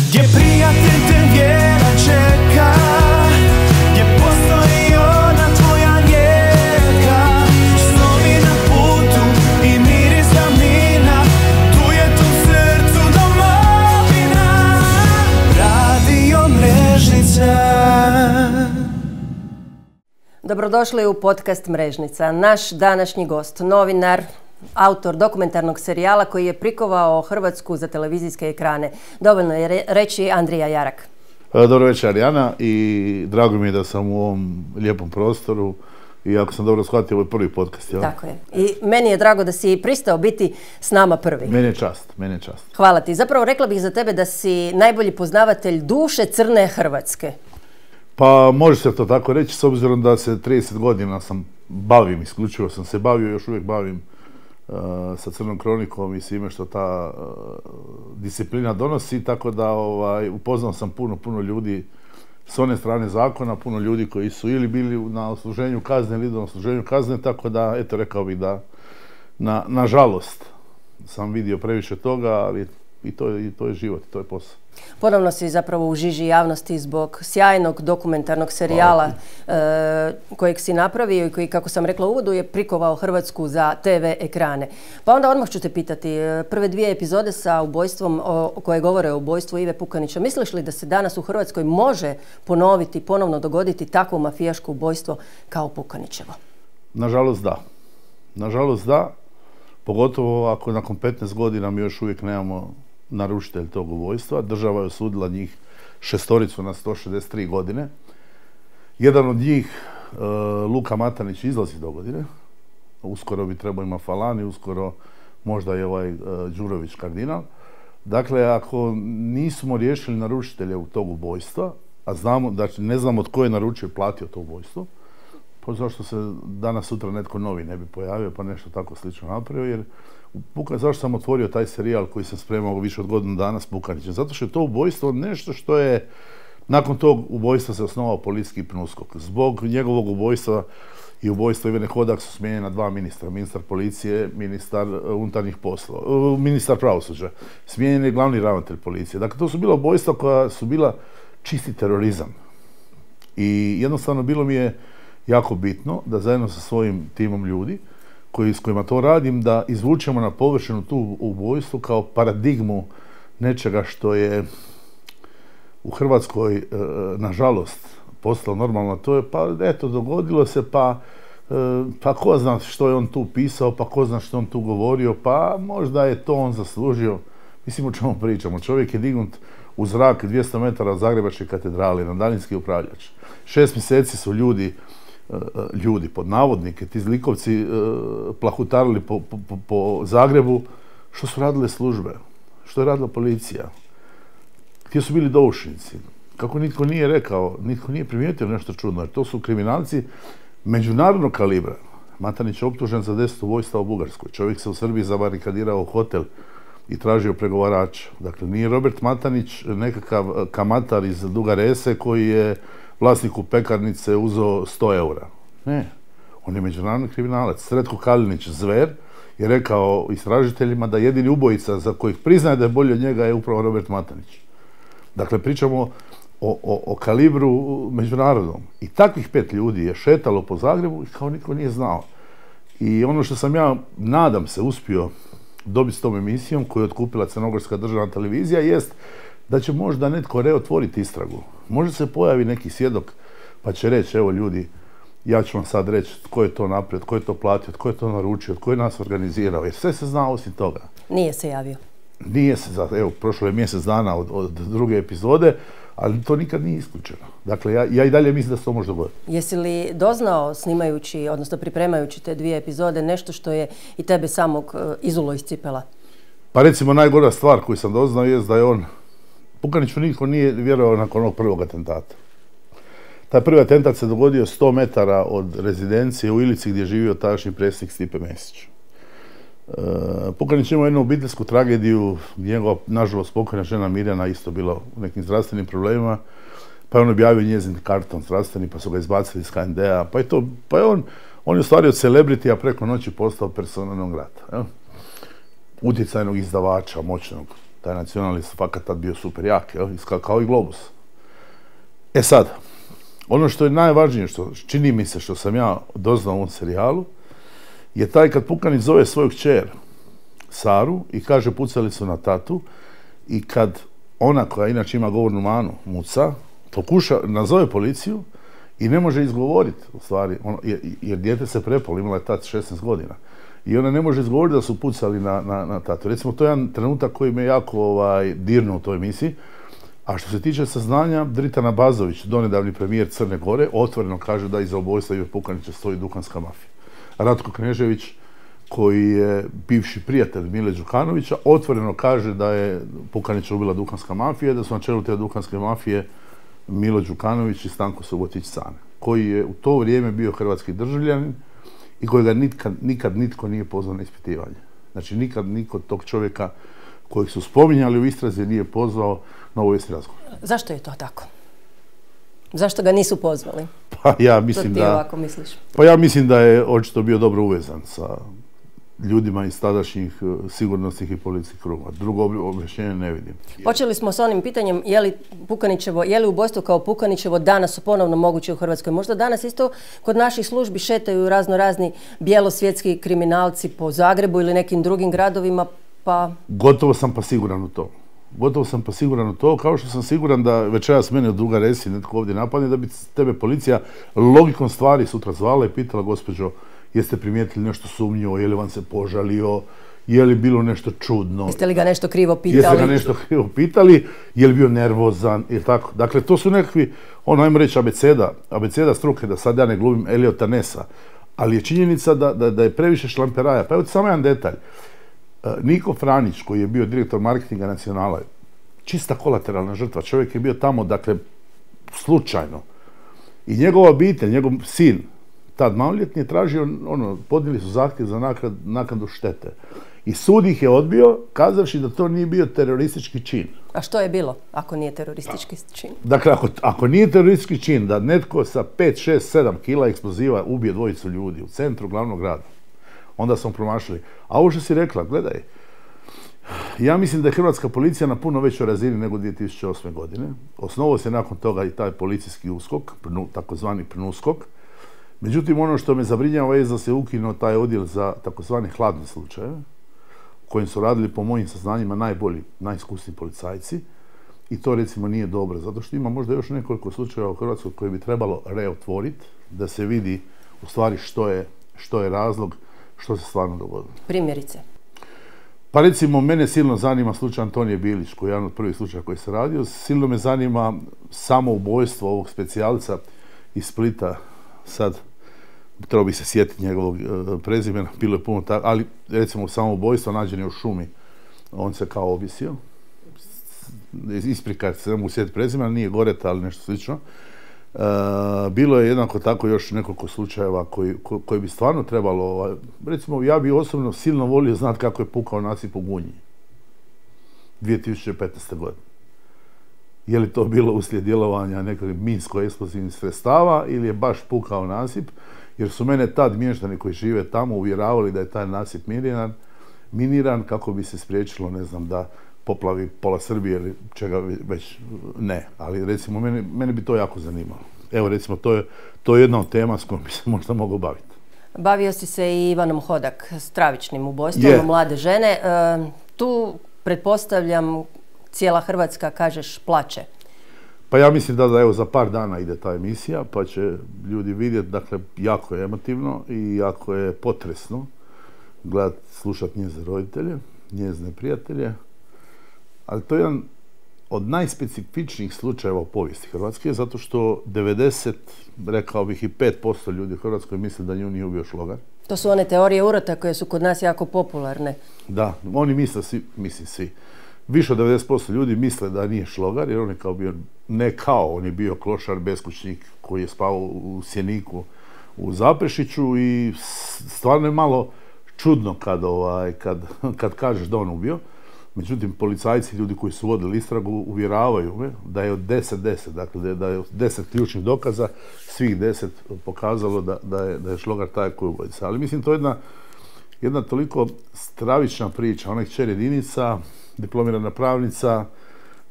Gdje prijatelj te vjera čeka, gdje postoji ona tvoja rijeka. Snovi na putu i miris davnina, tu je tu srcu domovina. Radio Mrežnica. Dobrodošli u podcast Mrežnica. Naš današnji gost, novinar, autor dokumentarnog serijala koji je prikovao Hrvatsku za televizijske ekrane. Dovoljno je reći Andrija Jarak. Dobro večer, Arijana, i drago mi je da sam u ovom lijepom prostoru i ako sam dobro shvatio, ovo je prvi podcast, jel? Tako je. I meni je drago da si pristao biti s nama prvi. Meni je čast, meni je čast. Hvala ti. Zapravo rekla bih za tebe da si najbolji poznavatelj duše crne Hrvatske. Pa može se to tako reći, s obzirom da se 30 godina isključivo sam se bavio, još uvijek bavim sa Crnom kronikom i svime što ta disciplina donosi, tako da upoznao sam puno ljudi s one strane zakona, puno ljudi koji su ili bili na odsluženju kazne ili na odsluženju kazne, tako da, eto, rekao bih da nažalost sam vidio previše toga, ali i to je život, to je posao. Ponovno si zapravo u žiži javnosti zbog sjajnog dokumentarnog serijala kojeg si napravio i koji, kako sam rekla u uvodu, je prikovao Hrvatsku za TV ekrane. Pa onda odmah ću te pitati, prve dvije epizode sa ubojstvom, koje govore o ubojstvu Ive Pukanića, misliš li da se danas u Hrvatskoj može ponovno dogoditi takvo mafijaško ubojstvo kao Pukanićevo? Nažalost da. Nažalost da, pogotovo ako nakon 15 godina mi još uvijek nemamo naručitelj tog ubojstva. Država je osudila njih 6 na 163 godine. Jedan od njih, Luka Matanić, izlazi do godine. Uskoro bi trebao imati Falani, uskoro možda je Đurović kardinal. Dakle, ako nismo riješili naručitelja u tog ubojstva, a znamo, znači ne znamo tko je naručio i platio to ubojstvo, pa zašto se danas sutra netko novi ne bi pojavio pa nešto tako slično napravio, jer zašto sam otvorio taj serijal koji sam spremao više od godinu dana s Pukanićem? Zato što je to ubojstvo nešto što je, nakon tog ubojstva se osnovao policijski PNUSKOK. Zbog njegovog ubojstva i ubojstva Ivane Hodak su smijenjena 2 ministra, ministar policije, ministar unutarnjih poslova, ministar pravosuđa. Smijenjen je glavni ravnatelj policije. Dakle, to su bila ubojstva koja su bila čisti terorizam. I jednostavno bilo mi je jako bitno da zajedno sa svojim timom ljudi s kojima to radim, da izvučemo na površinu tu ubojstvo kao paradigmu nečega što je u Hrvatskoj, nažalost, postalo normalno. To je, pa eto, dogodilo se, pa ko zna što je on tu pisao, pa ko zna što on tu govorio, pa možda je to on zaslužio. Mislim, o čemu pričamo. Čovjek je dignut u zrak 200 metara od Zagrebačke katedrale na daljinski upravljač. 6 mjeseci su ljudi, pod navodnike, ti zlikovci plahutarili po Zagrebu. Što su radile službe? Što je radila policija? Gdje su bili doušnici? Kako nitko nije rekao, nitko nije primijetio nešto čudno, jer to su kriminalci međunarodnog kalibra. Matanić je optužen za 10 ubojstva u Bugarskoj. Čovjek se u Srbiji zabarikadirao u hotel i tražio pregovarača. Dakle, nije Robert Matanić nekakav kamatar iz Duga Rese koji je vlasniku pekarnice uzeo 100 eura. Ne, on je međunarodni kriminalac. Sretko Kalinić, zver, je rekao istražiteljima da jedini ubojica za kojih priznaje da je bolji od njega je upravo Robert Matanić. Dakle, pričamo o kalibru međunarodnom. I takvih 5 ljudi je šetalo po Zagrebu i kao nitko nije znao. I ono što sam ja, nadam se, uspio dobiti s tom emisijom koju je otkupila Crnogorska državna televizija jest da će možda netko reotvoriti istragu. Možda se pojavi neki svjedok pa će reći, evo ljudi, ja ću vam sad reći tko je to napravio, tko je to platio, tko je to naručio, tko je nas organizirao, jer sve se zna osim toga. Nije se javio. Nije se, evo, prošlo je mjesec dana od druge epizode, ali to nikad nije isključeno. Dakle, ja i dalje mislim da se to može dogoditi. Jesi li doznao, snimajući, odnosno pripremajući te 2 epizode, nešto što je i tebe samog izulo iz cipela? Pa recimo, najgora stvar koju sam doznao je da je on, Pukaniću nitko nije vjerovao nakon onog prvog atentata. Taj prvi atentat se dogodio 100 metara od rezidencije u Ilici gdje je živio tadašnji predsjednik Stipe Mesić. Pukanić imao jednu obiteljsku tragediju, njegova, nažalost, pokojna žena Mirjana isto bila u nekim zdravstvenim problemima, pa je on objavio njezin karton zdravstveni, pa su ga izbacili iz HND-a, pa je on je u stvari od celebritija preko noći postao persona non grata. Utjecajnog izdavača, moćnog. Taj nacionalni fakat tad bio super jak, kao i Globus. E sad, ono što je najvažnije, što čini mi se što sam ja doznao u ovom serijalu, je taj kad Pukanić zove svoju kćer Saru i kaže pucali su na tatu i kad ona koja inače ima govornu manu, Muca, nazove policiju i ne može izgovoriti, u stvari, jer dijete se prepalo, imala je tat 16 godina. I ona ne može izgovoriti da su pucali na tatu. Recimo, to je jedan trenutak koji me jako dirnuo u toj emisiji. A što se tiče saznanja, Dritana Bazović, donedavni premijer Crne Gore, otvoreno kaže da iza ubojstva Ive Pukanića stoji duhanska mafija. Ratko Knežević, koji je bivši prijatelj Mile Đukanovića, otvoreno kaže da je Pukanića ubila duhanska mafija i da su na čelu te duhanske mafije Milo Đukanović i Stanko Subotić-Cane, koji je u to vrijeme bio hrvatski državljanin i kojega nikad nitko nije pozvao na ispitivanje. Znači, nikad niko tog čovjeka kojeg su spominjali u istrazi nije pozvao na obavijesni razgovor. Zašto je to tako? Zašto ga nisu pozvali? Pa ja mislim to ti ovako misliš? Pa ja mislim da je očito bio dobro uvezan sa ljudima iz tadašnjih sigurnosnih i policijskih krugova. Drugo objašnjenje ne vidim. Počeli smo s onim pitanjem je li ubojstvo kao Pukanićevo danas ponovno moguće u Hrvatskoj. Možda danas isto kod naših službi šetaju razni bijelosvjetski kriminalci po Zagrebu ili nekim drugim gradovima, pa... Gotovo sam pa siguran u to. Kao što sam siguran da večeras mene od druga resi netko ovdje napadne, da bi tebe policija logikom stvari sutra zvala i pitala: gospođo, jeste primijetili nešto sumnjivo, je li vam se požalio, je li bilo nešto čudno? Jeste li ga nešto krivo pitali? Je li bio nervozan, ili tako? Dakle, to su nekakvi, ajmo reći, abeceda struke, da sad ja ne glumim Eliota Nessa, ali je činjenica da je previše šlamperaja. Pa evo ti samo jedan detalj. Niko Franić, koji je bio direktor marketinga Nacionala, čista kolateralna žrtva. Čovjek je bio tamo, dakle, slučajno. I njegova obitelj, njegov sin, tad maloljetni, je tražio, podnijeli su zahtjev za naknadu štete. I sud ih je odbio, kazavši da to nije bio teroristički čin. A što je bilo ako nije teroristički čin? Dakle, ako nije teroristički čin da netko sa 5, 6, 7 kila eksploziva ubije dvojicu ljudi u centru glavnog grada, onda smo promašili. A ovo što si rekla, gledaj, ja mislim da je hrvatska policija na puno većoj razini nego 2008. godine. Osnovao se nakon toga i taj policijski USKOK, takozvani PNUSKOK. Međutim, ono što me zabrinjava je da se ukinuo taj odjel za takozvani hladne slučajeve, u kojim su radili, po mojim saznanjima, najbolji, najiskusniji policajci. I to, recimo, nije dobro, zato što ima možda još nekoliko slučajeva u Hrvatskoj koje bi trebalo reotvoriti, da se vidi u stvari što je razlog, što se stvarno dogodilo. Primjerice? Pa recimo, mene silno zanima slučaj Antonije Bilić, koji je jedan od prvih slučaja koji se radio. Silno me zanima samoubojstvo ovog specijalca iz Splita. Sad, trebao bi se sjetiti njegovog prezimena, bilo je puno tako, ali recimo samoubojstvo nađen je u šumi. On se kao obisio. Isprikati se, ne mogu sjetiti prezimena, nije Goreta, ali nešto slično. Bilo je jednako tako još nekoliko slučajeva koji bi stvarno trebalo, recimo, ja bi osobno silno volio znati kako je pukao nasip u Gunji 2015. godine. Je li to bilo uslijed djelovanja nekog minsko-eksplozivnih sredstava ili je baš pukao nasip, jer su mene tad mještani koji žive tamo uvjeravali da je taj nasip miniran kako bi se spriječilo, ne znam, da poplavi pola Srbije ili čega već ne. Ali recimo, mene bi to jako zanimalo. Evo, recimo, to je jedna od tema s kojom bi se možda mogao baviti. Bavio si se i Ivanom Hodak, stravičnim ubojstvom mlade žene. Tu, pretpostavljam, cijela Hrvatska, kažeš, plače. Pa ja mislim da evo za par dana ide ta emisija, pa će ljudi vidjeti, dakle, jako je emotivno i jako je potresno gledati, slušati njezine roditelje, njezine prijatelje, ali to je jedan od najspecifičnijih slučajeva u povijesti Hrvatske, zato što 90, rekao bih i 5% ljudi u Hrvatskoj misle da nju nije ubio šlogar. To su one teorije urota koje su kod nas jako popularne. Da, oni misle svi. Više od 90% ljudi misle da nije šlogar, jer on je kao bio, on je bio klošar, beskućnik koji je spao u Sjeniku u Zaprešiću i stvarno je malo čudno kad kažeš da on ubio. Međutim, policajci, ljudi koji su vodili istragu, uvjeravaju me da je od 10, dakle da je od 10 ključnih dokaza, svih 10 pokazalo da je šlogar taj koji je ubojica. Ali mislim, to je jedna toliko stravična priča. Ona je kćer jedinica, diplomirana pravnica,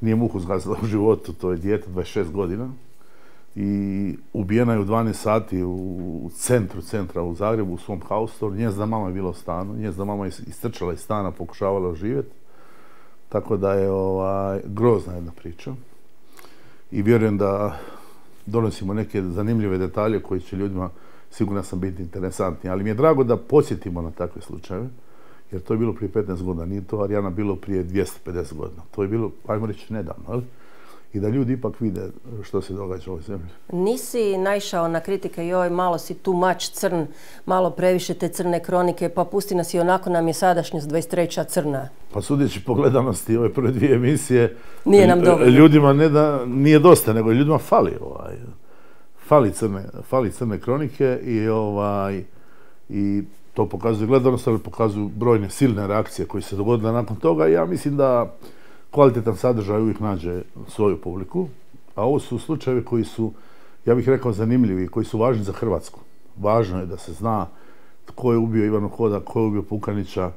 nije muhu zgazila u životu, to je dijete 26 godina. I ubijena je u 12 sati u centra u Zagrebu, u svom haustoru. Njezina mama je bila u stanu, njezina mama je istrčala iz stana, pokušavala oživjeti. Tako da je grozna jedna priča. I vjerujem da donosimo neke zanimljive detalje koji će ljudima, sigurno sam, biti interesantni. Ali mi je drago da podsjetimo na takve slučajeve, jer to je bilo prije 15 godina, nije to Arijana bilo prije 250 godina. To je bilo, ajmo reći, nedavno, ali? I da ljudi ipak vide što se događa u ovoj zemlji. Nisi naišao na kritike, joj, malo si tu mač crn, malo previše te crne kronike, pa pusti nas i onako nam je sadašnjost 23. crna. Pa sudeći po gledanosti ove prve dvije emisije, nije nam dovoljno. Ljudima ne da nije dosta, nego ljudima fali crne kronike i to pokazuje gledanost, ali pokazuju brojne silne reakcije koje se dogodile nakon toga. I ja mislim da kvalitetan sadržaj uvijek nađe svoju publiku, a ovo su slučajevi koji su, ja bih rekao, zanimljivi, koji su važni za Hrvatsku. Važno je da se zna tko je ubio Ivanu Hodak, tko je ubio Pukanića,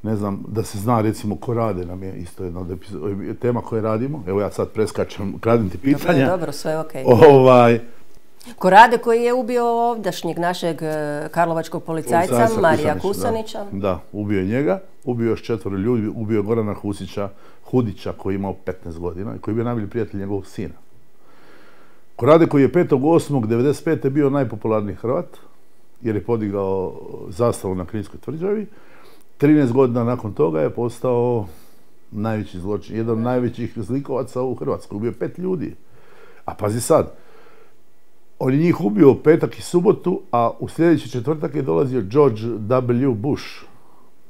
ne znam, da se zna recimo Korade, nam je isto jedna od tema koje radimo. Evo ja sad preskačem, kradim ti pitanja. Dobro, sve okej. Korade koji je ubio ovdašnjeg našeg karlovačkog policajca Marija Kusanića. Da, ubio je njega, ubio još 4 ljudi, ubio je Gorana Hudića koji je imao 15 godina i koji je bio najbolji prijatelj njegovog sina. Korade koji je 5.8.1995. bio najpopularniji Hrvat, jer je podigao zastavu na Kninskoj tvrđavi. 13 godina nakon toga je postao najveći zločin, jedan od najvećih zlikovaca u Hrvatskoj. Ubio 5 ljudi. A pazi sad, on je njih ubio u petak i subotu, a u sljedeći četvrtak je dolazio George W. Bush.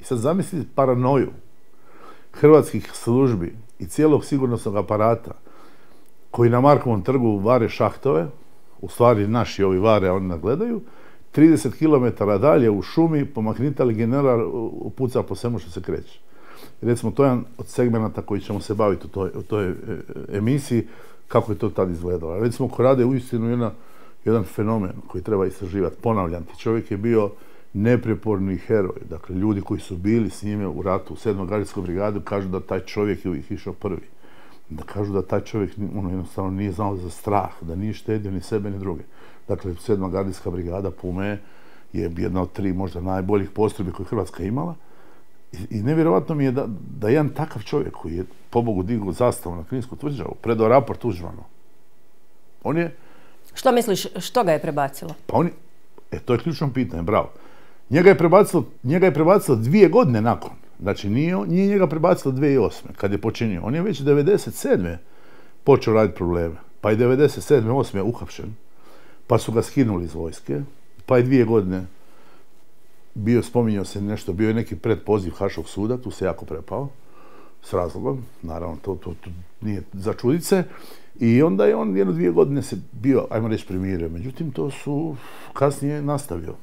I sad zamislite paranoju hrvatskih službi i cijelog sigurnosnog aparata koji na Markovom trgu vare šahtove, u stvari naši ovi vare, a oni nagledaju, 30 km dalje u šumi pomaknitali general puca po svemu što se kreće. Recimo, to je jedan od segmenata koji ćemo se baviti u toj emisiji, kako je to tad izgledalo. Recimo, Korade je uistinu jedan fenomen koji treba istraživati. Ponavljam ti, čovjek je bio nepreporni heroj. Dakle, ljudi koji su bili s njime u ratu u 7. gardijskoj brigadi kažu da taj čovjek je uvijek išao prvi. Da kažu da taj čovjek jednostavno nije znao za strah, da nije štedio ni sebe ni druge. Dakle, 7. gardijska brigada Pume je jedna od 3 možda najboljih postrojbi koje Hrvatska imala. I nevjerojatno mi je da jedan takav čovjek koji je pobogu digao zastavu na Kninsku tvrđavu, predao raport Tuđmanu. On je... Što misliš, što ga je prebacilo? Pa on je... to je ključno pitanje, bravo. Njega je prebacilo 2 godine nakon. Znači, nije njega prebacilo 2008. kad je počinio. On je već 1997. počeo raditi probleme. Pa je 1997. 8. uhapšen. Pa su ga skinuli iz vojske. Pa je 2 godine spominjao se nešto, bio je neki predpoziv Haškog suda, tu se jako prepao, s razlogom, naravno, to nije za čudit se. I onda je on 1-2 godine se bio, ajmo reći, primirio. Međutim, to su kasnije nastavio.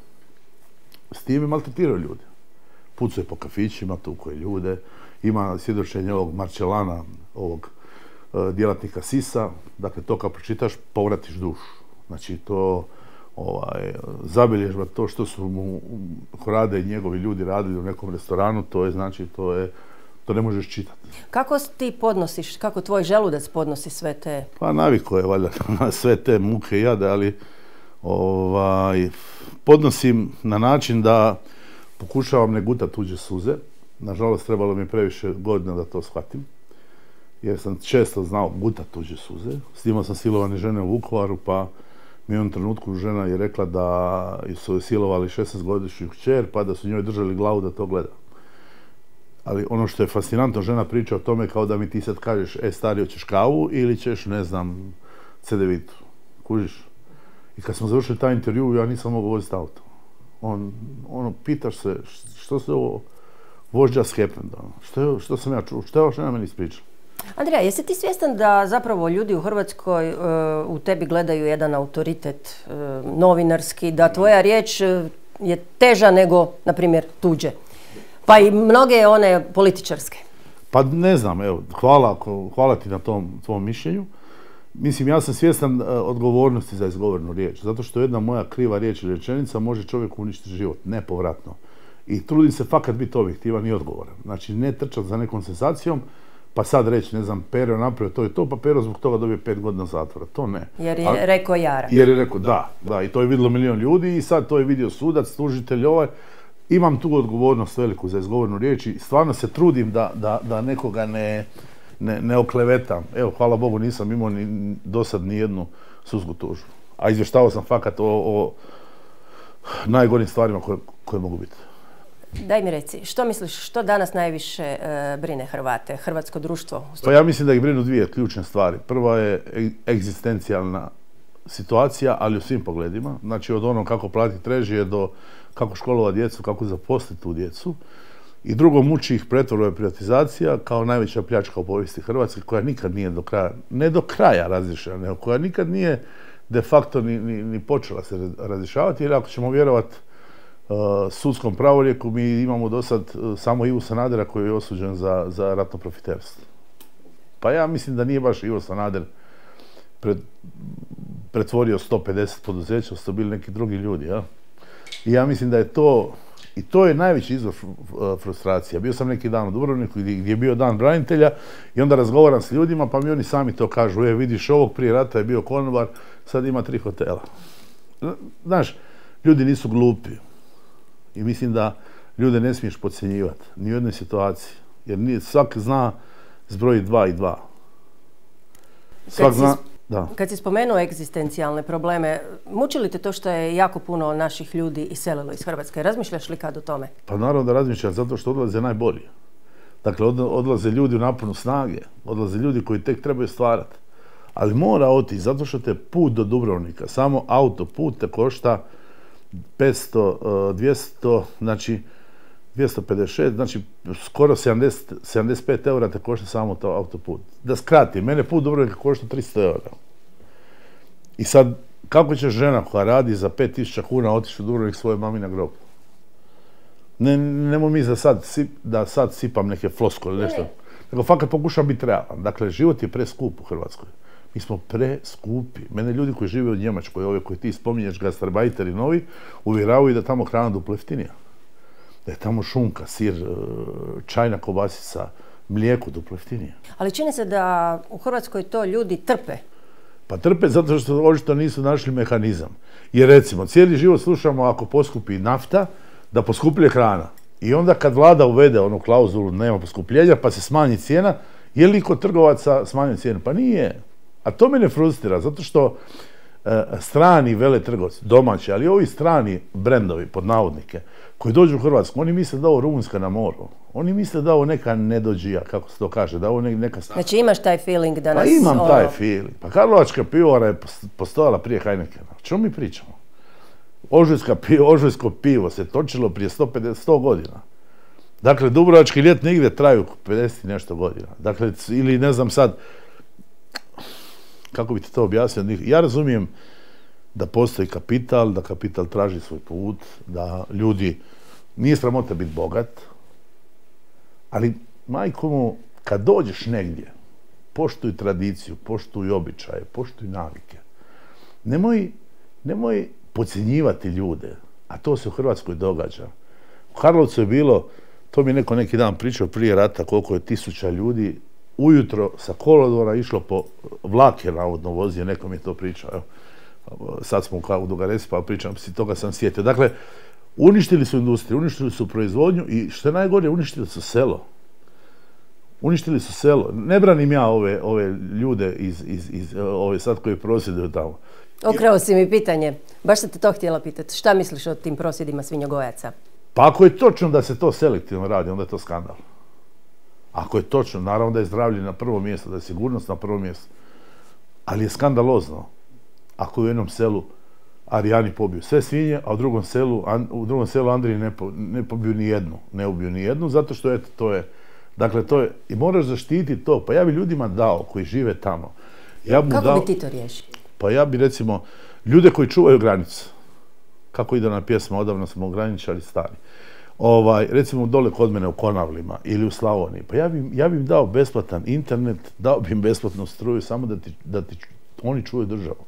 S time maltretirao ljude. Pucuje po kafićima, tukuje ljude. Ima svjedočenje ovog Marčelana, ovog djelatnika SIS-a. Dakle, to kad pročitaš, povratiš dušu. Znači, to zabilježba, to što su mu Korade i njegovi ljudi radili u nekom restoranu, to ne možeš čitati. Kako ti podnosiš, kako tvoj želudac podnosi sve te... Pa naviko je valjda na sve te muke i jade, ali podnosim na način da pokušavam ne gutati tuđe suze. Nažalost, trebalo mi previše godina da to shvatim, jer sam često znao gutati tuđe suze. Snimao sam silovane žene u Vukovaru, pa mi u jednom trenutku žena je rekla da su silovali 16-godišnju kćer, pa da su njoj držali glavu da to gleda. Ali ono što je fascinantno, žena priča o tome kao da mi ti sad kažeš, stari, hoćeš kavu ili ćeš, ne znam, cedevitu. Kužiš? I kad smo završili taj intervju, ja nisam mogao voziti auto. Pitaš se, što se ovo, what just happened? Što sam ja čuo? Što je ova žena meni ispričala? Andrija, jesi ti svjestan da zapravo ljudi u Hrvatskoj u tebi gledaju jedan autoritet novinarski, da tvoja riječ je teža nego, na primjer, tuđe? Pa i mnoge one političarske. Pa ne znam, evo, hvala ti na tvom mišljenju. Mislim, ja sam svjestan odgovornosti za izgovornu riječ, zato što jedna moja kriva riječ ili rečenica može čovjeku uništiti život, nepovratno. I trudim se fakat biti objektivan i odgovoran. Znači, ne trčati za nekom senzacijom, pa sad reći, ne znam, Pero napravio to i to, pa Pero zbog toga dobije 5 godina zatvora. To ne. Jer je rekao Jara. Jer je rekao da, i to je vidjelo milion ljudi i sad to je vidio sudac, tužitelj Imam tu odgovornost veliku za izgovornu riječ i stvarno se trudim da nekoga ne oklevetam. Evo, hvala Bogu, nisam imao do sad ni jednu sudsku tužbu. A izvještavao sam fakat o najgorim stvarima koje mogu biti. Daj mi reci, što misliš, što danas najviše brine Hrvate, hrvatsko društvo? Pa ja mislim da ih brinu dvije ključne stvari. Prva je egzistencijalna situacija, ali u svim pogledima. Znači od onog kako platiti režije do kako školovati djecu, kako zaposliti tu djecu. I drugo, muči ih pretvorba i privatizacija kao najveća pljačka u povijesti Hrvatske, koja nikad nije do kraja, ne do kraja razriješena, nego koja nikad nije de facto ni počela se razrješavati, jer ako ćemo vjerovati sudskom pravorijeku, mi imamo do sad samo Ivu Sanadera koji je osuđen za ratno profiterstvo. Pa ja mislim da nije baš Ivo Sanader pretvorio 150 poduzeća, su to bili neki drugi ljudi, ja? I ja mislim da je to, i to je najveći izvor frustracija. Bio sam neki dan u Dubrovniku gdje je bio dan branitelja i onda razgovaram s ljudima pa mi oni sami to kažu, vidiš ovog prije rata je bio konobar, sad ima 3 hotela. Znaš, ljudi nisu glupi i mislim da ljude ne smiješ podcjenjivati, ni u jednoj situaciji, jer svak zna zbrojiti 2 i 2. Svak zna... Da. Kad si spomenuo egzistencijalne probleme, muči li te to što je jako puno naših ljudi iselilo iz Hrvatske? Razmišljaš li kad o tome? Pa naravno da razmišljam, zato što odlaze najbolji. Dakle, odlaze ljudi u naponu snage, odlaze ljudi koji tek trebaju stvarati. Ali mora otići, zato što te put do Dubrovnika, samo autoput te košta 500, 200, znači 256, znači skoro 75 eura te košta samo to autoput. Da skratim, mene put Dubrovnika košta 300 eura. I sad, kako će žena koja radi za 5000 kuna otići u Dubrovnik svoje mami na grob? Nemo mi da sad sipam neke floskole ili nešto. Nego fakat pokušam biti realan. Dakle, život je preskup u Hrvatskoj. Mi smo preskupi. Mene ljudi koji žive u Njemačkoj, ove koji ti spominješ, gastarbajteri novi, uvjeravaju da tamo hrana duplo jeftinija. Da je tamo šunka, sir, čajna kobasica, mlijeko duplo jeftinije. Ali čini se da u Hrvatskoj to ljudi trpe. Pa trpe zato što očito nisu našli mehanizam. Jer recimo, cijeli život slušamo ako poskupi nafta, da poskupljuje hrana. I onda kad vlada uvede onu klauzulu nema poskupljenja pa se smanji cijena, je li kod trgovaca smanjuje cijenu? Pa nije. A to me ne frustrira, zato što strani veletrgovci, domaći, ali ovi strani brendovi, pod navodnike, koji dođu u Hrvatsku, oni misle da ovo Rumunjska na moru. Oni misle da ovo neka nedođija, kako se to kaže, da ovo neka... Znači imaš taj feeling da nas... Pa imam taj feeling. Pa Karlovačka pivovara je postojala prije Heinekena. O čemu mi pričamo? Ožujsko pivo se točilo prije 100 godina. Dakle, dubrovački ljetni igre traju 50 i nešto godina. Dakle, ili ne znam sad, kako bi ti to objasnio? Ja razumijem da postoji kapital, da kapital traži svoj put, da ljudi, nije sramota biti bogat, ali majko mu, kad dođeš negdje, poštuj tradiciju, poštuj običaje, poštuj navike. Nemoj podcjenjivati ljude, a to se u Hrvatskoj događa. U Karlovcu je bilo, to mi neko neki dan pričao prije rata, koliko je 1000 ljudi ujutro sa kolodvora išlo po vlak je navodno vozio, neko mi je to pričao. Evo. Sad smo u Dugaresi pa pričam, toga sam sjetio. Dakle, uništili su industriju, uništili su proizvodnju i što je najgore, uništili su selo. Uništili su selo. Ne branim ja ove ljude iz ove sad koji prosvjeduju tamo. Okrao si mi pitanje. Baš sam te to htjela pitati. Šta misliš o tim prosvjedima svinjogojaca? Pa ako je točno da se to selektivno radi, onda je to skandal. Ako je točno, naravno da je zdravlje na prvo mjesto, da je sigurnost na prvo mjesto. Ali je skandalozno ako u jednom selu Arijani pobiju sve svinje, a u drugom selu Andriji ne pobiju ni jednu. Ne ubiju ni jednu, zato što eto, to je... Dakle, to je... I moraš zaštititi to. Pa ja bi ljudima dao, koji žive tamo. Kako bi ti to riješio? Pa ja bi, recimo, ljude koji čuvaju granicu. Kako ide na pjesma, odavno smo ograničali stari. Recimo dole kod mene u Konavlima ili u Slavoniji. Pa ja bi im dao besplatan internet, dao bi im besplatnu struju, samo da ti oni čuvaju državu.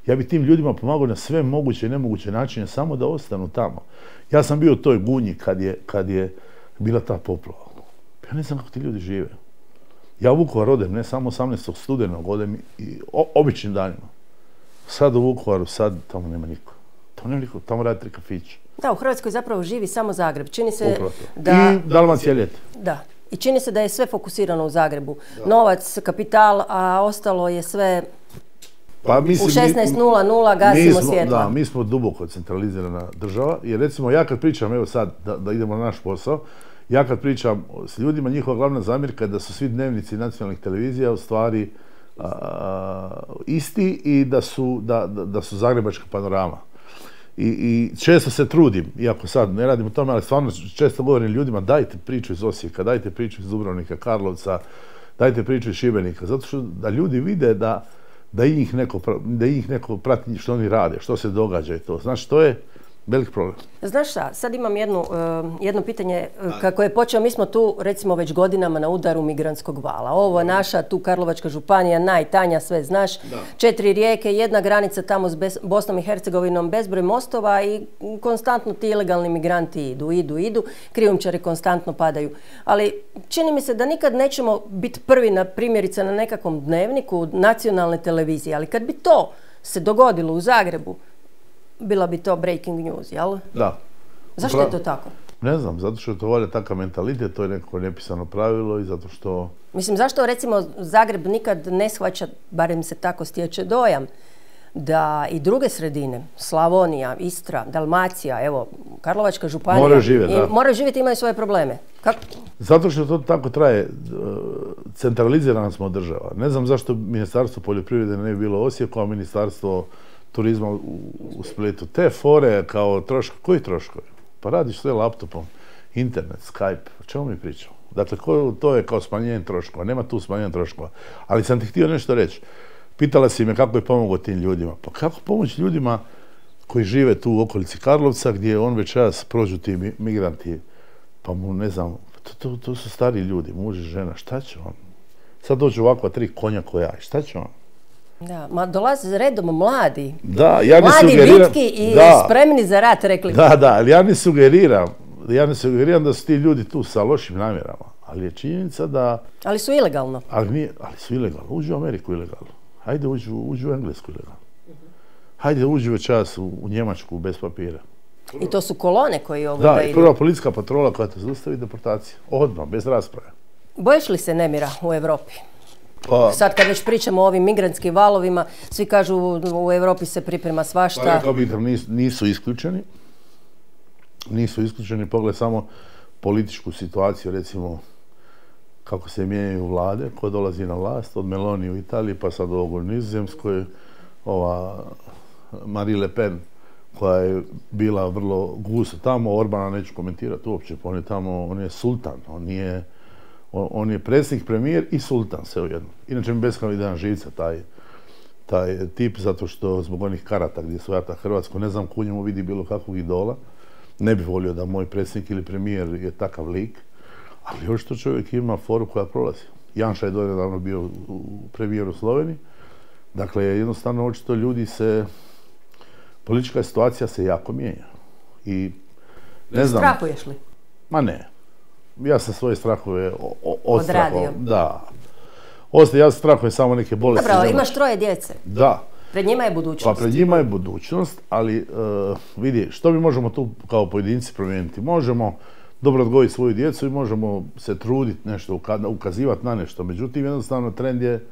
Ja bi tim ljudima pomagao na sve moguće i nemoguće načine, samo da ostanu tamo. Ja sam bio u toj Gunji kad je bila ta poplava. Ja ne znam kako ti ljudi žive. Ja u Vukovar odem, ne samo 18. studenog, odem i običnim danima. Sad u Vukovaru, tamo nema niko. Tamo radi 3 kafića. Da, u Hrvatskoj zapravo živi samo Zagreb. Čini se I Dalmacija ljeti. Da. I čini se da je sve fokusirano u Zagrebu. Novac, kapital, a ostalo je sve pa, u 16:00 gasimo svjetla. Da, mi smo duboko centralizirana država. Jer recimo ja kad pričam, evo sad da idemo na naš posao, ja kad pričam s ljudima, njihova glavna zamjerka je da su svi dnevnici nacionalnih televizija u stvari isti i da su Zagrebačka panorama. I često se trudim, iako sad ne radim o tome, ali stvarno često govorim ljudima dajte priču iz Osijeka, dajte priču iz Dubrovnika, Karlovca, dajte priču iz Šibenika, zato što da ljudi vide da i njih neko prati što oni rade, što se događa i to. Znači, to je velik problem. Znaš šta, sad imam jedno pitanje kako je počeo, mi smo tu recimo već godinama na udaru migrantskog vala. Ovo je naša tu Karlovačka županija, najtanja, sve znaš, 4 rijeke, jedna granica tamo s Bosnom i Hercegovinom, bezbroj mostova i konstantno ti ilegalni migranti idu, krijumčari konstantno padaju. Ali čini mi se da nikad nećemo biti prvi na primjerice na nekakvom dnevniku nacionalne televizije, ali kad bi to se dogodilo u Zagrebu, bila bi to breaking news, jel? Da. Zašto je to tako? Ne znam, zato što je to valjda takav mentalitet, to je neko nepisano pravilo i zato što... Mislim, zašto recimo Zagreb nikad ne shvaća, barem se tako stječe dojam, da i druge sredine, Slavonija, Istra, Dalmacija, evo, Karlovačka županija... Moraju živjeti, imaju svoje probleme. Kako? Zato što to tako traje. Centralizirana smo država. Ne znam zašto Ministarstvo poljoprivrede ne bi bilo u Osijeku, a Ministarstvo turizma u Splitu. Te fore kao troškovi. Koji troškovi? Pa radiš sve laptopom, internet, Skype. O čemu mi pričamo? Dakle, to je kao smanjenje troškova. Nema tu smanjenja troškova. Ali sam ti htio nešto reći. Pitala si me kako je pomogao tim ljudima. Pa kako pomoći ljudima koji žive tu u okolici Karlovca, gdje on večeras prođu ti migranti, pa mu ne znam, to su stari ljudi, muž i žena, šta će on? Sad dođu ovakva 3 konja ko ja, šta će on? Da, ma dolaze redom mladi. Da, ja ne mladi, sugeriram... vitki i spremni za rat, rekli. Da, ali ja ne sugeriram da su ti ljudi tu sa lošim namjerama. Ali je činjenica da... Ali su ilegalno. Ali su ilegalno. Uđu u Ameriku ilegalno. Hajde uđu u Englesku ilegalno. Hajde uđu večeras u Njemačku bez papira. I to su kolone koji idu. Da, i prva policijska patrola koja te zaustavi deportacija. Odmah, bez rasprave. Bojiš li se nemira u Europi? Sad kad već pričamo o ovim migrantskim valovima, svi kažu u Europi se priprema svašta. Pa rekao bih da nisu isključeni. Nisu isključeni, pogled samo političku situaciju, recimo kako se mijenjaju vlade, ko dolazi na vlast, od Meloni u Italiji pa sad ovog u Nizozemskoj, ova Marine Le Pen koja je bila vrlo gusto tamo, Orbana neću komentirati uopće, pa on je sultan, on je predsjednik, premijer i sultan sve ujedno. Inače mi beskrajno ide na živce taj tip, zato što zbog onih karata gdje su rata Hrvatsku, ne znam ko u njemu vidi bilo kakvog idola. Ne bih volio da moj predsjednik ili premijer je takav lik, ali očito čovjek ima foru koja prolazi. Janša je donedavno bio premijer u Sloveniji. Dakle, jednostavno očito ljudi politička situacija se jako mijenja. I ne znam... Strahuješ li? Ma ne. Ja sam svoje strahove odradio. Da. Ja strahujem samo neke bolesti. Dobro, imaš 3 djece. Da. Pred njima je budućnost. Pa pred njima je budućnost, ali vidi, što mi možemo tu kao pojedinci promijeniti? Možemo dobro odgojiti svoju djecu i možemo se truditi nešto, ukazivati na nešto. Međutim, jednostavno trend je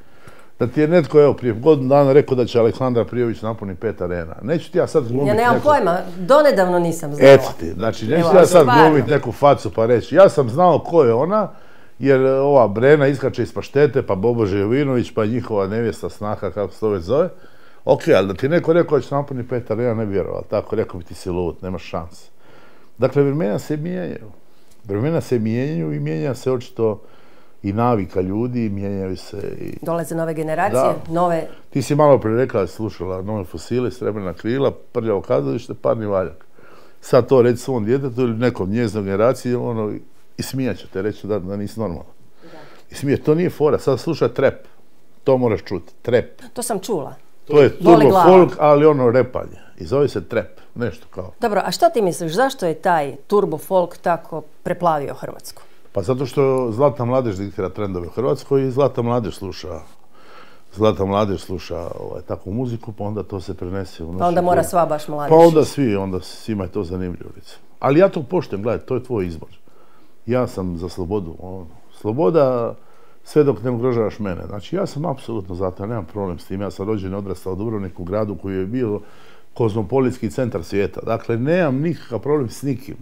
da ti je netko, evo, prije godinu dana rekao da će Aleksandra Prijović napuniti 5 arena. Neću ti ja sad glumiti Ja nemam pojma, donedavno nisam znala. Eto ti, znači neću ti ja sad glumiti neku facu pa reći. Ja sam znao ko je ona, jer ova Brena iskače iz paštete, pa Bobože Jovinović, pa njihova nevjesta snaha, kako se to već zove. Ok, ali da ti neko rekao da će napuniti 5 arena, ne bi vjerovao. Tako, rekao bi ti si lud, nemaš šans. Dakle, vremena se mijenjaju. Vremena se mijenjaju i mijenja se očito i navika ljudi, mijenjaju se i... Dolaze nove generacije, nove... Ti si malo prije rekla, slušala Nove fosile, Srebrna krila, Prljavo kazalište, Parni valjak. Sad to reći svom djetetu ili nekom njezinom generaciji, i smijat će te reći da nisi normalno. I smijat, to nije fora, sad sluša trep. To moraš čuti, trep. To sam čula. To je Boli turbo glava. folk, ali ono repanje. I zove se trap, nešto kao. Dobro, a što ti misliš, zašto je taj turbo folk tako preplavio Hrvatsku? Pa zato što Zlatna mladež diktira trendove u Hrvatskoj i Zlatna mladež sluša takvu muziku, pa onda to se prenese u našu. Pa onda mora sva baš mladež. Pa onda svima je to zanimljivo. Ali ja to poštujem, gledaj, to je tvoj izbor. Ja sam za slobodu. Sloboda sve dok ne ugrožavaš mene. Znači ja sam apsolutno za to, nemam problem s tim. Ja sam rođen i odrastao u Dubrovniku, gradu koji je bio kozmopolitski centar svijeta. Dakle, nemam nikakav problem s nikim.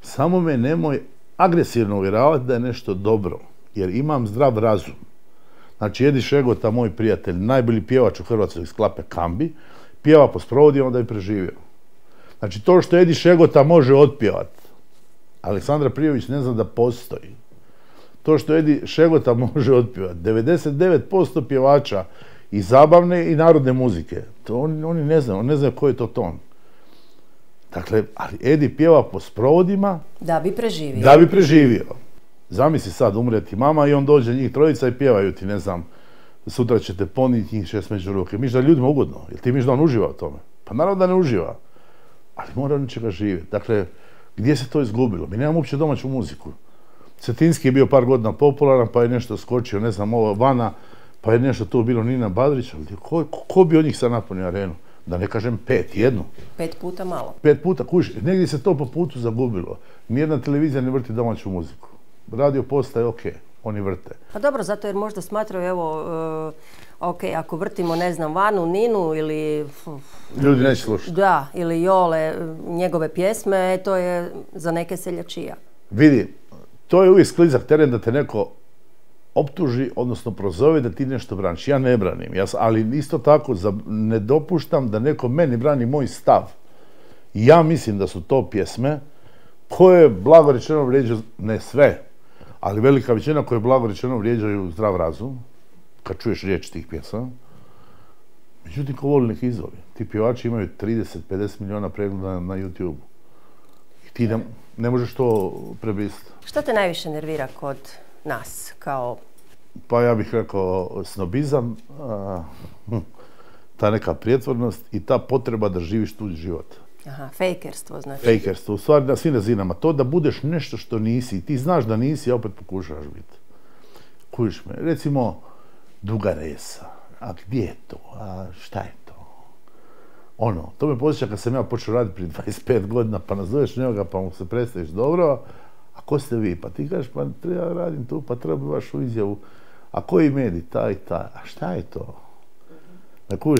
Samo me nemoj agresivno uvjeravati da je nešto dobro, jer imam zdrav razum. Znači, Edi Šegota, moj prijatelj, najbolji pjevač u Hrvatskoj iz Klape Kambi, pjeva po sprovodima da je preživio. Znači, to što Edi Šegota može otpjevati, Aleksandra Prijović ne zna da postoji. To što Edi Šegota može otpjevati, 99% pjevača i zabavne i narodne muzike, to oni ne znaju, ne znaju koji je to ton. Dakle, ali Edi pjeva po sprovodima Da bi preživio. da bi preživio. Zamisli sad, umre ti mama i on dođe njih trojica i pjevaju ti, ne znam, sutra ćete poniti njih 6 među ruke. Miš da je ljudima ugodno, jel ti miš da on uživa u tome? Pa naravno da ne uživa, ali mora on čega živjeti. Dakle, gdje se to izgubilo? Mi nemamo uopće domaću muziku. Cetinski je bio par godina popularan, pa je nešto skočio, ne znam, ovo Vana, pa je nešto tu bilo Nina Badrić, ali ko bi od njih sad napunio arenu? Da ne kažem 5, jednu. 5 puta malo. 5 puta, kužiš, negdje se to po putu zagubilo. Nijedna televizija ne vrti domaću muziku. Radio postaje ok, oni vrte. Pa dobro, zato jer možda smatraju, evo, ok, ako vrtimo, ne znam, Vanu, Ninu ili... Ljudi neće slušati. Da, ili Jole, njegove pjesme, to je za neke seljačija. Vidi, to je uvijek sklizak teren da te neko optuži, odnosno prozove da ti nešto braniš. Ja ne branim, ali isto tako ne dopuštam da neko meni brani moj stav. Ja mislim da su to pjesme koje, blago rečeno, vrijeđaju, ne sve, ali velika većina koje, blago rečeno, vrijeđaju zdrav razum, kad čuješ riječ tih pjesama. Međutim, ko voli nek izvoli. Ti pjevači imaju 30-50 milijuna pregleda na YouTube. I ti ne možeš to prebrisati. Što te najviše nervira kod nas, kao... Pa ja bih rekao snobizam, ta neka prijetvornost i ta potreba da živiš tuđi život. Aha, fejkerstvo znači. Fejkerstvo, u stvari na svim razinama. To da budeš nešto što nisi, ti znaš da nisi, a opet pokušavaš biti. Kužiš me, recimo Duga Resa, a gdje je to, a šta je to? Ono, to me posjeća kad sam ja počeo raditi prije 25 godina, pa nazoveš njega, pa mu se predstaviš dobro, a ko ste vi? Pa ti kažeš, pa ja radim tu, pa treba vašu izjavu. A koji medij? Taj i taj. A šta je to?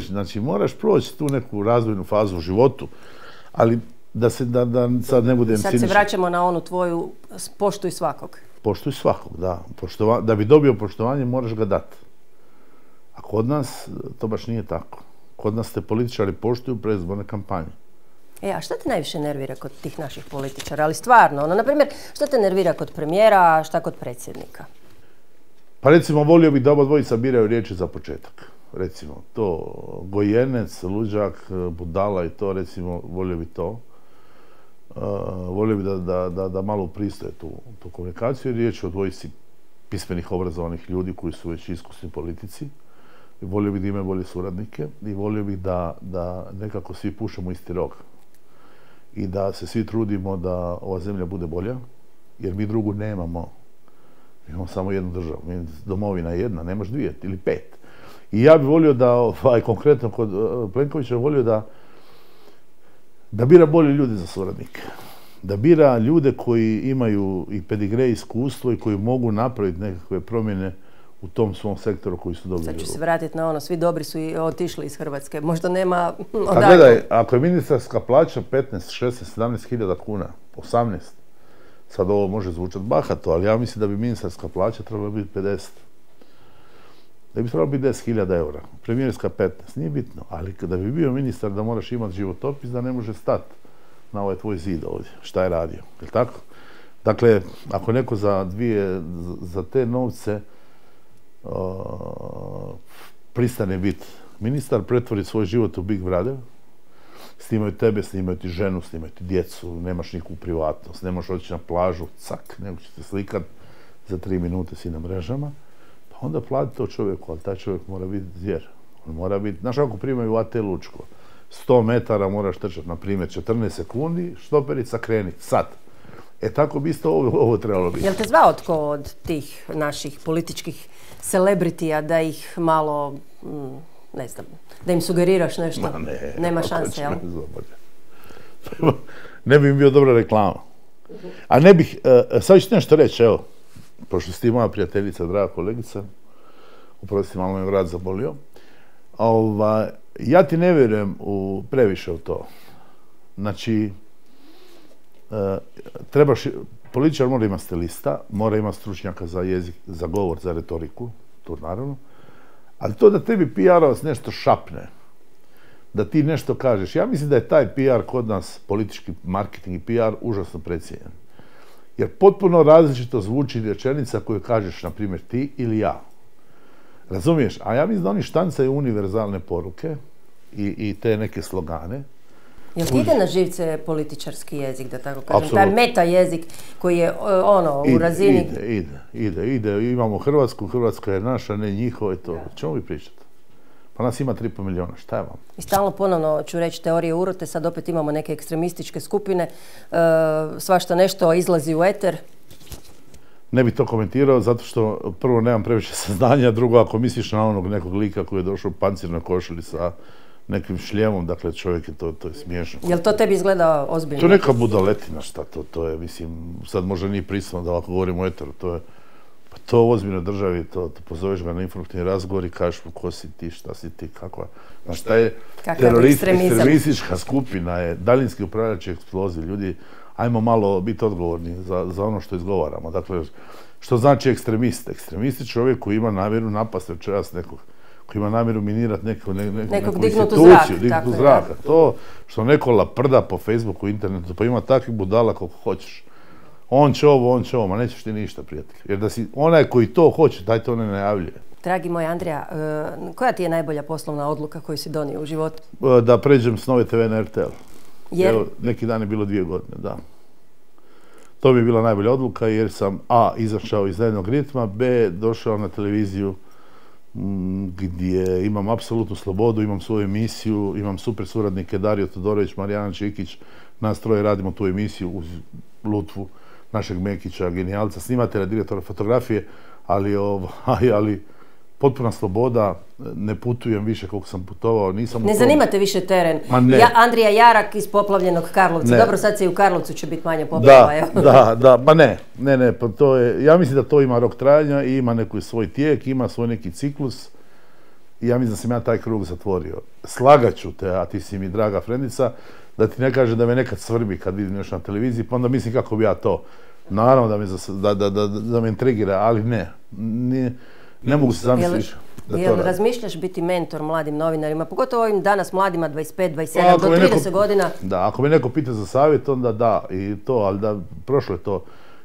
Znači, moraš proći tu neku razvojnu fazu u životu, ali da sad ne budem ciničan. Sad se vraćamo na onu tvoju poštuj svakog. Poštuj svakog, da. Da bi dobio poštovanje, moraš ga dati. A kod nas to baš nije tako. Kod nas te političari poštuju predizborne kampanje. A šta te najviše nervira kod tih naših političara? Ali stvarno, na primjer, šta te nervira kod premijera, a šta kod predsjednika? Pa recimo, volio bih da oba dvojica biraju riječi za početak. Recimo, to gojenec, luđak, budala i to, recimo, volio bi to. Volio bi da malo pristoje tu komunikaciju, jer riječ je o dvojici pismenih, obrazovanih ljudi koji su već iskusni politici. I volio bih da imaju bolje suradnike i volio bih da nekako svi pušemo isti rok. I da se svi trudimo da ova zemlja bude bolja, jer mi drugu nemamo. Mi imamo samo jednu državu, domovina je jedna, nemaš 2 ili 5. I ja bih volio da, konkretno kod Plenkovića, volio da bira bolje ljude za suradnike. Da bira ljude koji imaju i pedigre, iskustvo i koji mogu napraviti nekakve promjene u tom svom sektoru koji su dobri. Sad ću se vratiti na ono, svi dobri su i otišli iz Hrvatske, možda nema... A gledaj, ako je ministarska plaća 15, 16, 17 hiljada kuna, 18, sad ovo može zvučati bahato, ali ja mislim da bi ministarska plaća trebala biti 50. Da bi trebalo biti 10.000 eura, premijerska 15, nije bitno, ali kada bi bio ministar da moraš imati životopis, da ne može stati na ovaj tvoj zid ovdje, šta je radio, je li tako? Dakle, ako neko za te novce pristane biti ministar, pretvori svoj život u Big Brother, snimaju tebe, snimaju ti ženu, snimaju ti djecu, nemaš nikakvu privatnost, nemaš otići na plažu, cak, nego će te slikat za 3 minute si na mrežama, pa onda plati to čovjeku, ali taj čovjek mora biti zvijer. On mora biti, znaš ako primaju AT Lučko, 100 metara moraš trčati, na primjer, 14 sekundi, štoperica krenit, sad. Tako bi isto ovo trebalo biti. Jel te zvao tko od tih naših političkih celebritija da ih malo, ne znam, da im sugeriraš nešto? Ma ne. Nema šanse, jel? Ne bi mi bio dobra reklama. A ne bih, sad ću ti nešto reći, evo, pošto si ti moja prijateljica, draga kolegica, oprosti, malo me vrat zabolio, ja ti ne vjerujem previše u to. Znači, političar mora imati stilista, mora imati stručnjaka za jezik, za govor, za retoriku, to naravno, ali to da tebi PR-ovac nešto šapne, da ti nešto kažeš, ja mislim da je taj PR kod nas, politički marketing i PR, užasno precijenjen. Jer potpuno različito zvuči rečenica koju kažeš, na primjer, ti ili ja. Razumiješ? A ja mislim da oni štancaju univerzalne poruke i te neke slogane. Jel ti ide na živce političarski jezik, da tako kažem? Taj meta jezik koji je u razini... Ide. Imamo Hrvatsku, Hrvatska je naša, ne njihova i to. Čemu vi pričate? Pa nas ima 3,5 milijuna, šta je vam? I stalno ponovno ću reći teorije urote, sad opet imamo neke ekstremističke skupine, svašta nešto izlazi u eter. Ne bih to komentirao, zato što prvo nemam previše saznanja, drugo ako misliš na onog nekog lika koji je došao u pancirnoj košulji sa nekim šljemom, dakle čovjek je to je smiješno. Jel to tebi izgleda ozbiljno? To je neka budaletina, šta to je, mislim, sad možda nije prisutno da ovako govorimo o eteru, to u ozbiljnoj državi, to pozoveš ga na informativni razgovor i kažeš mu ko si ti, šta si ti, kakva. Znaš, šta je teroristička skupina, je daljinski upravljač eksploziv, ljudi, ajmo malo biti odgovorni za ono što izgovaramo. Dakle, što znači ekstremist? Ekstremist je čovjek koji ima namjeru napasti večeras nekog, koji ima namjeru minirati neku instituciju, dignuti u zrak. To što neko laprda po Facebooku, internetu, pa ima takvih budala koliko hoćeš. On će ovo, ma nećeš ti ništa, prijatelj. Jer da si onaj koji to hoće, taj to ne najavljuje. Dragi moj Andrija, koja ti je najbolja poslovna odluka koju si donio u životu? Da pređem s Nove TV na RTL. Jer? Evo, neki dan je bilo 2 godine, da. To bi je bila najbolja odluka jer sam A, izašao iz dnevnog ritma, B, došao na televiziju gdje imam apsolutnu slobodu, imam svoju emisiju, imam super suradnike Dario Todorović, Marijana Čikić, nas troje radimo tu emisiju uz Lutvu, našeg Mekića, genijalca, snimatelja, direktora fotografije, ali potpuna sloboda, ne putujem više koliko sam putovao, nisam... Ne zanimate više teren? Ma ne. Andrija Jarak iz poplavljenog Karlovca. Dobro, sad se i u Karlovcu će biti manje poplava. Da, pa ne, pa to je, ja mislim da to ima rok trajanja i ima neki svoj tijek, ima svoj neki ciklus i ja mislim da sam ja taj krug zatvorio. Slagaću te, a ti si mi draga frendica, da ti ne kaže da me nekad svrbi kad vidim nešto na televiziji, pa onda mislim kako bi ja to. Naravno da me intrigira, ali ne mogu se zamisliti da to radim. Razmišljaš biti mentor mladim novinarima, pogotovo ovim danas mladima 25, 27, do 30 godina? Da, ako me neko pita za savjet, onda da, i to, ali da, prošlo je to.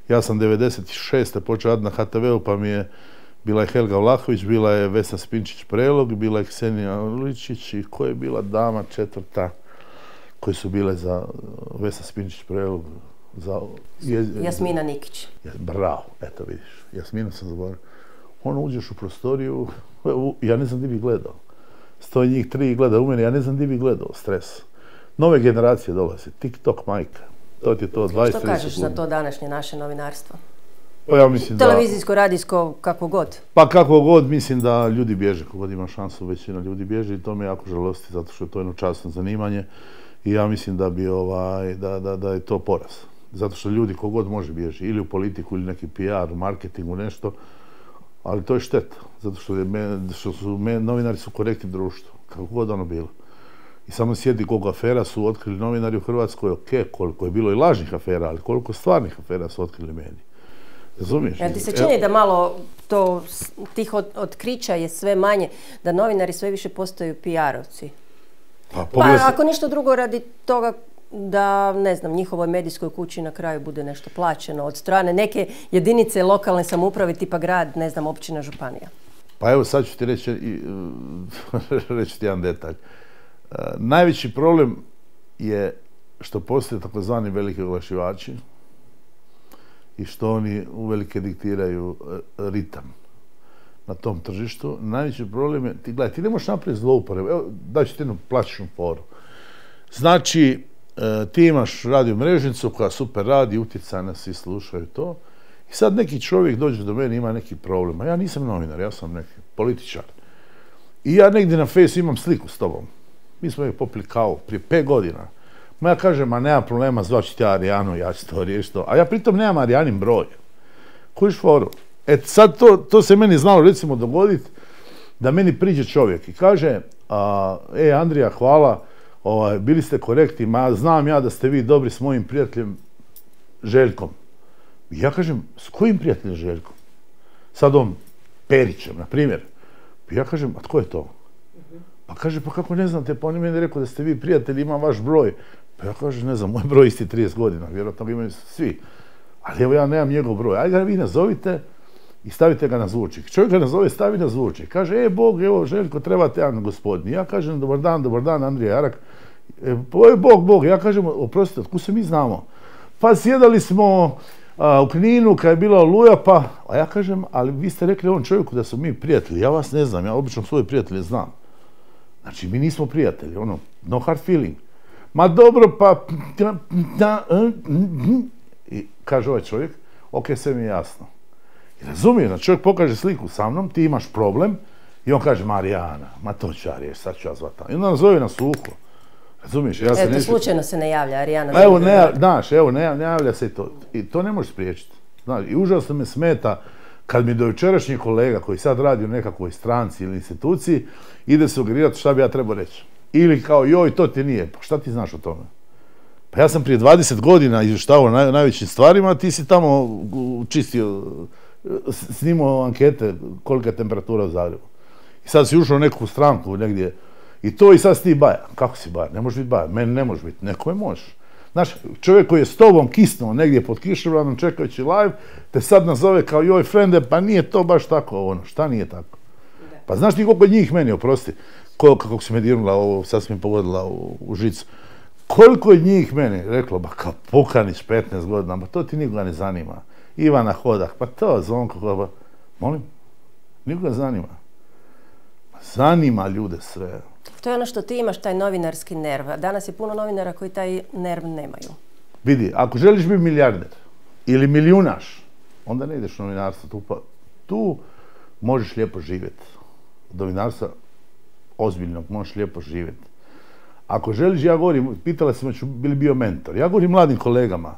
Ja sam 96. počeo raditi na HTV-u, pa mi je bila je Helga Vlahović, bila je Vesna Spinčić-Prelog, bila je Ksenija Ličić i koja je bila dama 4. koje su bile za Vesna Spinčić-Prelog, za... Jasmina Nikić. Bravo, eto vidiš, Jasminu sam zaboravio. Ono uđeš u prostoriju, ja ne znam di bi gledao. Stoji njih 3 i gleda u mene, ja ne znam di bi gledao, stres. Nove generacije dolaze, TikTok majka. To ti je to 20-30 Što kažeš za to današnje naše novinarstvo? Pa ja mislim televizijsko, radijsko, kako god? Pa kako god, mislim da ljudi bježe, kako god ima šansu, većina ljudi bježe i to me jako žalosti, zato što je to jedno časno zanimanje i ja mislim da bi da je to poraz. Zato što ljudi kogod može bježi, ili u politiku, ili neki PR, marketingu, nešto, ali to je šteta, zato što novinari su korektni društvu, kako god ono bilo. I samo sjedi koliko afera su otkrili novinari u Hrvatskoj, koliko je bilo i lažnih afera, ali koliko stvarnih afera su otkrili mediji. Razumiješ? Jel ti se čini da malo tih otkrića je sve manje, da novinari sve više postaju PR-ovci? Pa ako ništa drugo radi toga da, ne znam, njihovoj medijskoj kući na kraju bude nešto plaćeno od strane neke jedinice lokalne samouprave tipa grad, ne znam, općina, županija. Pa evo sad ću ti reći ti jedan detalj. Najveći problem je što postoje takozvani veliki oglašivači i što oni uvelike diktiraju ritam. na tom tržištu. Najveći problem je, gledaj, ti ne možeš napraviti zlouporabu. Evo, daću ti jednu plastičnu foru. Znači, ti imaš radio mrežnicu koja super radi, utjecajna, svi slušaju to. I sad neki čovjek dođe do mene, ima neki problem. A ja nisam novinar, ja sam neki političar. I ja negdje na Fejsu imam sliku s tobom. Mi smo je popili kavu prije 5 godina. Ma ja kažem, ma nema problema, zvaću ti Arijanu, ja ću to riješiti. A ja pritom nemam Arijanin broj. Kojiš foru? Sad to se meni znalo recimo dogoditi da meni priđe čovjek i kaže Andrija, hvala, bili ste korektni, ma znam ja da ste vi dobri s mojim prijateljem Željkom. I ja kažem, s kojim prijateljem Željkom? Sad on Perićem, na primjer. I ja kažem, a tko je to? Pa kaže, pa kako ne znate, pa on je meni rekao da ste vi prijatelji, imam vaš broj. Pa ja kažem, ne znam, moj broj isti 30 godina, vjerojatno ga imaju svi. Ali evo ja nemam njegov broj, ajde ga vi nazovite i stavite ga na zvučnik. Čovjek ga nazove, stavi na zvučnik. Kaže, Bog, evo Željko, trebate jedan gospodin. Ja kažem, dobar dan, Andrija Jarak. Bog, ja kažem, oprostite, otkud se mi znamo? Pa sjedali smo u Kninu kad je bila Oluja, pa... A ja kažem, ali vi ste rekli ovom čovjeku da su mi prijatelji. Ja vas ne znam, ja obično svoje prijatelje znam. Znači, mi nismo prijatelji, no hard feeling. Ma dobro, pa... I kaže ovaj čovjek, ok, sve mi je jasno. I razumije, znači čovjek pokaže sliku sa mnom, ti imaš problem, i on kaže, Marijana, ma to ću ja riješiti, sad ću ja zvati. I onda nazove na suho. Razumiješ, ja se neću... slučajno se ne javlja Arijana. Ne javlja se i to. I to ne možeš spriječiti. Znaš, i užasno me smeta kad mi dojučerašnji kolega koji sad radi u nekakvoj stranci ili instituciji ide sugerirati šta bi ja trebao reći. Ili kao, joj, to ti nije. Pa šta ti znaš o tome? Pa ja sam prije 20 godina izvještavao najvećim stvarima, a ti si tamo čistio, snimao ankete kolika je temperatura u Zagrebu. I sad si ušao u neku stranku negdje i to i sad si ti baja. Kako si baja? Ne možeš biti baja. Meni ne možeš biti. Nekome možeš. Znaš, čovjek koji je s tobom kisnuo negdje pod kišobranom čekajući live, te sad nazove kao joj frende, pa nije to baš tako Šta nije tako? Pa znaš ti koliko njih meni, oprosti, kako si me dirnula ovo, sad si mi pogodila u žicu. Koliko je njih meni reklo, ba kao Pukanić 15 godina, pa to ti nikoga ne zanima. Ivana Hodak, pa to Zvonko, molim, nikoga zanima. Zanima ljude sve. To je ono što ti imaš, taj novinarski nerv. Danas je puno novinara koji taj nerv nemaju. Vidi, ako želiš biti milijarder ili milijunaš, onda ne ideš u novinarstvo. Tu možeš lijepo živjeti. Od novinarstva ozbiljnog možeš lijepo živjeti. Ako želiš, ja govorim, pitala si me bili bio mentor, ja govorim mladim kolegama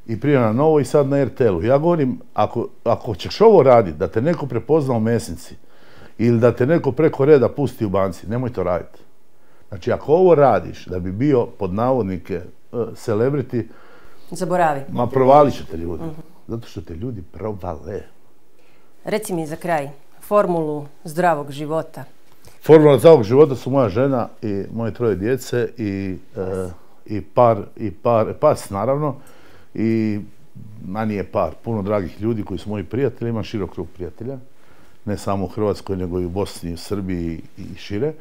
i prije na Novo i sad na RTL-u, ja govorim, ako ćeš ovo raditi, da te neko prepozna u Mesnici ili da te neko preko reda pusti u banci, nemoj to raditi. Znači, ako ovo radiš da bi bio pod navodnike celebrity, zaboravi. Ma provalit će te ljudi, zato što te ljudi provale. Reci mi za kraj, formulu zdravog života. Formula zdravog života su moja žena i moje 3 djece i pas naravno i nije par, puno dragih ljudi koji su moji prijatelji, imam širok krug prijatelja, ne samo u Hrvatskoj nego i u Bosni, u Srbiji i šire,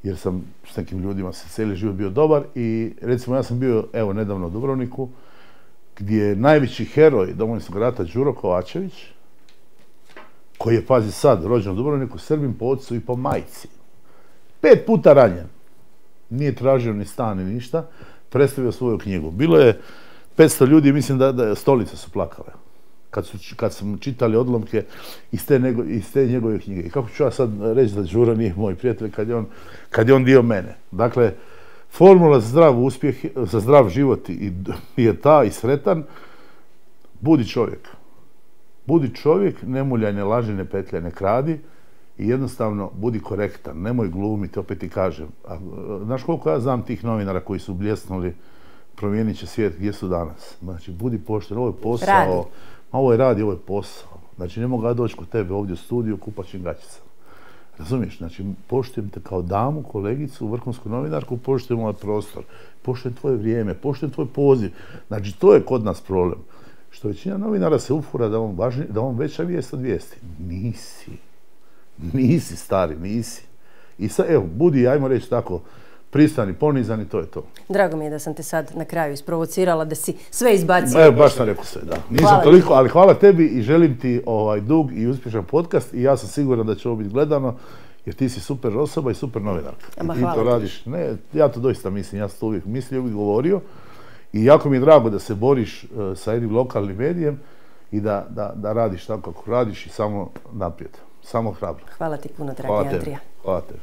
jer sam s nekim ljudima se cijeli život bio dobar i recimo ja sam bio evo nedavno u Dubrovniku gdje je najveći heroj Domovinskog rata Đuro Kovačević, koji je, pazi sad, rođen u Dubrovniku, Srbin po ocu i po majci. 5 puta ranjen. Nije tražio ni stan ni ništa, predstavio svoju knjigu. Bilo je 500 ljudi, mislim da stolice su plakale. Kad smo čitali odlomke iz te njegove knjige. I kako ću ja sad reći da Đuro nije moj prijatelj kad je on dio mene. Dakle, formula za zdrav uspjeh, za zdrav život je ta i sretan. Budi čovjek. Budi čovjek, ne muljaj, ne laži, ne petljaj, ne kradi i jednostavno budi korektan, nemoj glumiti, opet ti kažem. Znaš koliko ja znam tih novinara koji su bljesnuli, promijenit će svijet, gdje su danas? Znači, budi pošten, ovo je posao, ovo je rad i ovo je posao. Znači, ne mogu ja doći kod tebe ovdje u studiju, kupaćim gaćicama. Razumiješ? Znači, poštujem te kao damu, kolegicu, vrhunsku novinarku, poštujem ovaj prostor, poštujem tvoje vrijeme, poštujem tvoj poziv. Znači, to je kod nas problem. Što većina novinara se ufura da on veća vijest od vijesti. Nisi stari, nisi. I sad, evo, budi, ajmo reći tako, pristani, ponizani, to je to. Drago mi je da sam te sad na kraju isprovocirala da si sve izbacio. Evo, baš sam rekao sve, da. Nisam toliko, ali hvala tebi i želim ti dug i uspješan podcast i ja sam siguran da će ovo biti gledano, jer ti si super osoba i super novinarka. I ti to radiš, ne, ja to doista mislim, ja sam to uvijek mislio, uvijek govorio i jako mi je drago da se boriš sa jednim lokalnim medijem i da radiš tako kako radiš i samo naprijed, samo hrabro. Hvala ti puno, dragi Andrija. Hvala tebi.